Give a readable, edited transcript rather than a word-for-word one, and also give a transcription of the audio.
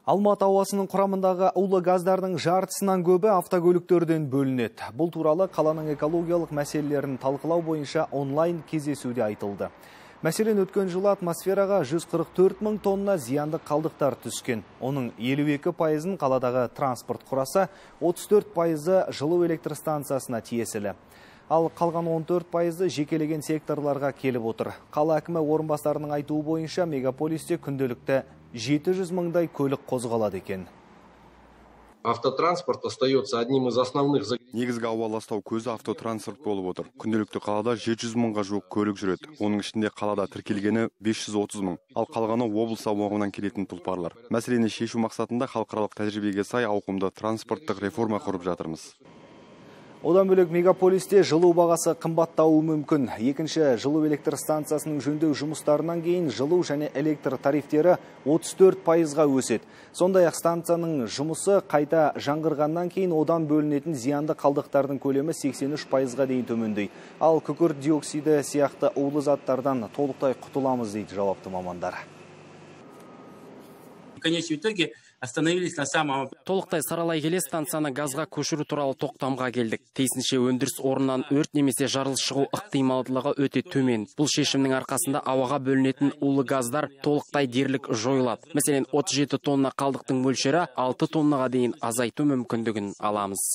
Алматы ауасының құрамындағы улы газдардың жартысынан көбі автокөліктерден бөлінеді. Бұл туралы қаланың экологиялық мәселелерін талқылау бойынша онлайн кездесуде айтылды. Мәселен, өткен жылы атмосфераға 144 мың тонна зиянды қалдықтар түскен. Оның 52%-ын қаладағы транспорт құраса, 34%-ы жылу электр станциясына тиесілі. Ал қалған 14%-ы жекелеген секторларға келіп отыр. Қала әкімі орынбасарының айтуы бойынша мегаполисте күнделікті 700 мыңдай көлік қозғалады екен. Автотранспорт остается одним из основных. Негізгі ауа ластау көзі автотранспорт болып отыр. Күнделікті қалада 700 мыңға жуық көлік жүреді. Оның ішінде қалада тіркелгені 530 мың. Ал қалғаны облыс аумағынан келетін тұлпарлар. Мәселені шешу мақсатында халықаралық тәжірибеге сай ауқымды транспорттық реформа құрып жатырмыз. Одан бөлек мегаполисте жылу бағасы қымбаттауы мүмкін. Екінші жылу электр станциясының жөндеу жұмыстарынан кейін жылу және электр тарифтері 34%-ға өседі. Сондай-ақ станцияның жұмысы қайта жаңғырғаннан кейін одан бөлінетін зиянды қалдықтардың көлемі 83%-ға дейін төмендейді. Ал күкірт диоксиді сияқты улы заттардан толықтай құтыламыз дейді жауапты мамандар. В конечном итоге остановились на самом... Толықтай саралай келе станцияны газға көшіру туралы тоқтамға келдік. Тиісінше өндіріс орнынан өрт немесе жарылыс шығу ықтималдылығы өте төмен. Бұл шешімнің арқасында ауаға бөлінетін улы газдар толықтай дерлік жойылады. Мәселен, 37 тонна қалдықтың мөлшері 6 тоннаға дейін азайту мүмкіндігін аламыз.